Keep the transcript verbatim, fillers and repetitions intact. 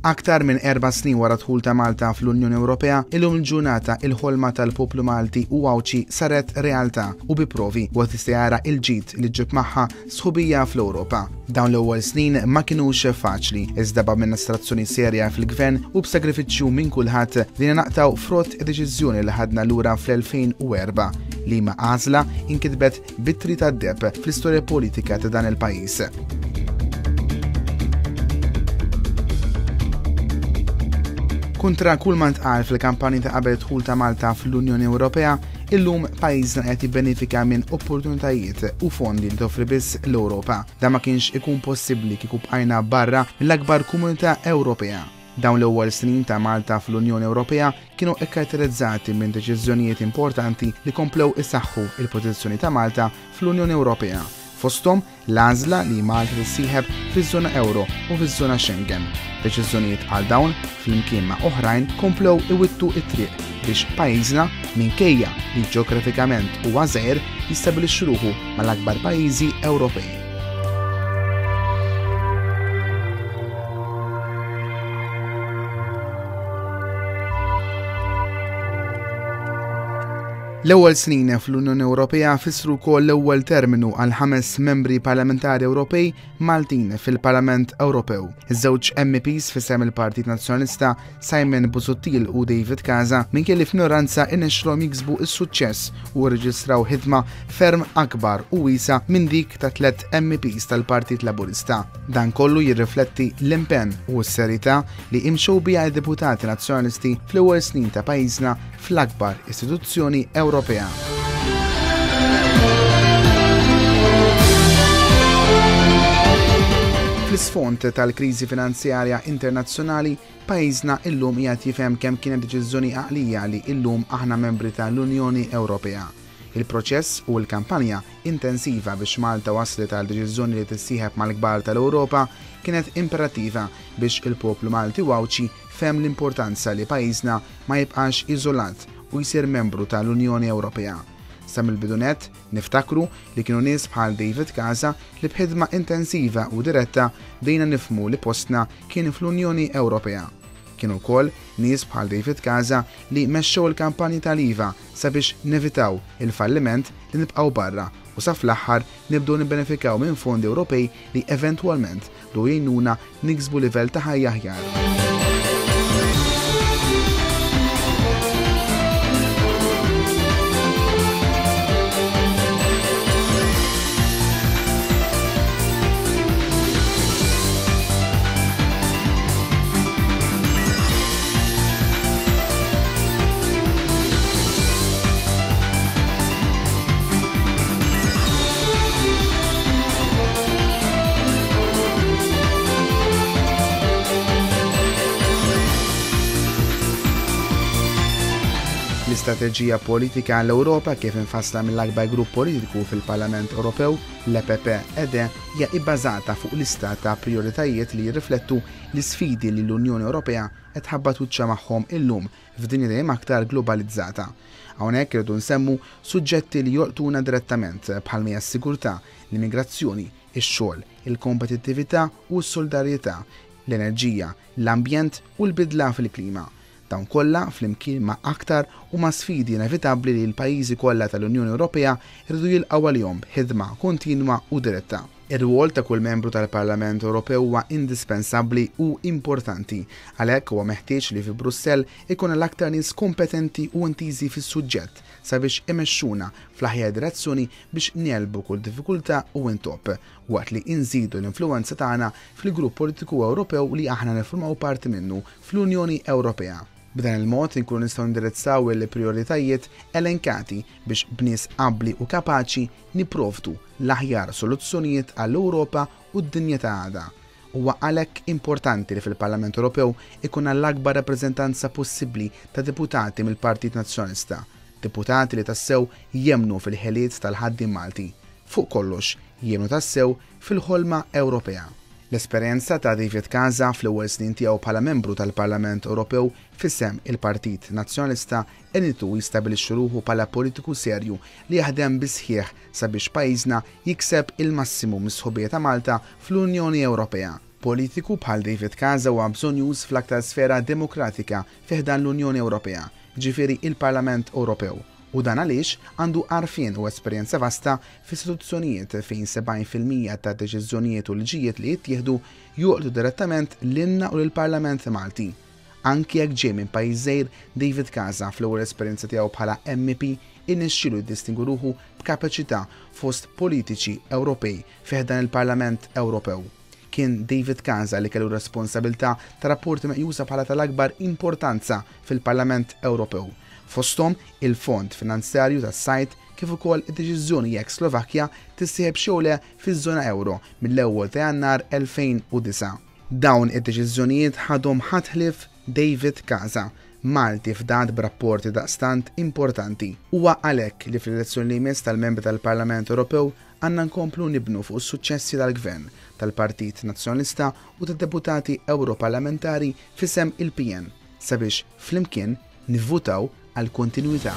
Aktar minn erba' snin wara dħul ta' Malta fl-Unjoni Ewropea, illum il-ġurnata il-ħolma tal-poplu Malti u Għawdxi saret realtà u bi provi u tista' jara il-ġid li ġib magħha sħubija fl-Ewropa. Dawn l-ewwel snin ma kinux faċli, iżda b'amministrazzjoni serja fil-gvern u b'sagrifiċċju minn kulħadd li naqtaw frott id-deċiżjoni li ħadna lura fl-elfejn u erba' li ma għażla inkitbet bit-tri tad-deheb fl-istorja politika ta' dan il-pajjiż. Kontra kull ma ntqal fil-kampanji ta' qabel dħul ta' Malta fl-Unjoni Ewropea, illum pajjiżna qed jibbenefika minn opportunitajiet u fondi li toffri biss l-Ewropa. Dan ma kienx ikun possibbli kieku bqajna barra mill-akbar komunità Ewropea. Dawn l-ewwel snin ta' Malta fl-Unjoni Ewropea kienu ikkaratterizzati minn deċiżjonijiet importanti li komplew isaħħu il-pożizzjoni ta' Malta fl-Unjoni Ewropea. Fosthom l-għażla li Malta tissieħeb fiż-żona Ewro u fiż-żona Schengen. Deċiżjonijiet bħal dawn flimkien ma' oħrajn komplew iwittu t-triq biex pajjiżna minkejja li ġeografikament huwa żgħir jistabilixxi ruħu mal-akbar pajjiżi Ewropej. L-ewwel snin fl-Unjoni Ewropea fissru wkoll l-ewwel terminu għal ħames membri parlamentari Ewropej Maltin fil-Parlament Ewropew. Iż-żewġ M E Ps f'isem il-Partit Nazzjonalista Simon Busuttil u David Casa minkejja li f'minoranza irnexxilhom jiksbu s-suċċess u rreġistraw ħidma ferm akbar u wiesa minn dik ta' tliet M E Ps tal-Partit Laburista. Dan kollu jirrifletti l-impenn u s-serjetà li imxew biha d-deputati nazzjonalisti fl-ewwel snin ta' pajjiżna fl-akbar istituzzjoni Ewropea. Fl-isfond tal-kriżi finanzjarja internazzjonali, pajjiżna illum qiegħed jifhem kemm kienet deċiżjoni għaqlija li illum aħna membri tal-Unjoni Ewropea. Il-proċess u l-kampanja intensiva biex Malta waslet għal deċiżjoni li tissieħeb mal-kbar tal-Ewropa kienet imperattiva biex il-poplu Malti u Għawdxi fehem l-importanza li pajjiżna ma jibqax iżolat u jsir membru tal-Unjoni Ewropea. Sa mill-bidu nett niftakru li kienu nies bħal David Casa li b'ħidma intensiva u diretta bdejna nifhmu li postna kien fl-Unjoni Ewropea. Kienu wkoll nies bħal David Casa li mexxew il-kampanji tal-I V A sabiex nevitaw il-falliment li nibqgħu barra u sa fl-aħħar nibdew nibbenefikaw minn fondi Ewropej li eventwalment bdew jgħinuna niksbu livell ta' ħajja aħjar. L-istrateġija politika għall-Ewropa kif infassla mill-akbar grupp politiku fil-Parlament Ewropew, l-E P P E D, hija ibbażata fuq lista ta' prioritajiet li jirriflettu l-isfidi li l-Unjoni Ewropea qed tħabbat wiċċha magħhom illum f'dinja dejjem aktar globalizzata. Hawnhekk irridu nsemmu suġġetti li jolqtuna direttament bħalma hija s-sigurtà, l-immigrazzjoni, ix-xogħol, il-kompetittività u s-solidarjetà, l-enerġija, l-ambjent u l-bidla fil-klima. Dawn kollha flimkien ma' aktar huma sfidi inevitabbli li l-pajjiżi kollha tal-Unjoni Ewropea jridu jilqgħu għalihom b'ħidma kontinwa u diretta. Ir-rwol ta' kull membru tal-Parlament Ewropew huwa indispensabbli u importanti, għalhekk huwa meħtieġ li fi Brussell ikun l-aktar nies kompetenti u intiżi fis-suġġett sabiex imexxuna fl-aħjar direzzjoni biex negħlbu kull diffikultà u intopp, waqt li inżidu l-influwenza tagħna fil-grupp politiku Ewropew li aħna niffurmaw parti minnu fl-Unjoni Ewropea. B'dan il-mod inkunu nistgħu nindirizzaw il-prijoritajiet elenkati biex b'nies abbli u kapaċi nipprovdu l-aħjar soluzzjonijiet għall-Ewropa u d-dinja ta' għada. Huwa għalhekk importanti li fil-Parlament Ewropew ikun l-akbar rappreżentanza possibbli ta' deputati mill-Partit Nazzjonalista, deputati li tassew jemmnu fil-ħiliet tal-ħaddiem Malti. Fuq kollox, jemmnu tassew fil-ħolma Ewropea. L-esperjenza ta' David Casa fl-ewwel snin tiegħu bħala membru tal-Parlament Ewropew f'isem il-Partit Nazzjonalista għenitu jistabilixxi ruħu bħala politiku serju li jaħdem bisħieħ sabiex pajjiżna jikseb il-massimu mis-sħubija ta' Malta fl-Unjoni Ewropea. Politiku bħal David Casa huwa bżonnjuż fl-aktar sfera demokratika fi ħdan l-Unjoni Ewropea, ġifieri il-Parlament Ewropew, u dan għaliex għandu għarfien u esperjenza vasta f'istituzzjonijiet fejn sebgħin fil-mija ta' deċiżjonijiet u liġijiet li jittieħdu jolqtu direttament lilna u lill-Parlament Malti. Anki jekk ġej minn pajjiż żgħir, David Casa fl-ewwel esperjenza tiegħu bħala M P irnexxielu jiddistingwi ruħu b'kapaċità fost politiċi Ewropej fi ħdan il-Parlament Ewropew. Kien David Casa li kellu responsabilità ta' rapporti meqjusa bħala tal-akbar importanza fil-Parlament Ewropew, fosthom il-Fond Finanzjarju tas-Sajd kif ukoll id-deċiżjoni jekk Slovakkja tissieħeb jew le fiż-żona euro mill-ewwel ta' Jannar elfejn u disgħa. Dawn id-deċiżjonijiet ħadhom ħadd ħlief David Casa, Malti fdat b'rapporti daqstant importanti. Huwa għalhekk li fl-elezzjoni li jmiss tal-membri tal-Parlament Ewropew għandna nkomplu nibnu fuq is-suċċessi tal-Gvern, tal-Partit Nazzjonalista u tad-deputati Ewroparlamentari f'isem il-P N, sabiex flimkien nivvutaw għal kontinwità.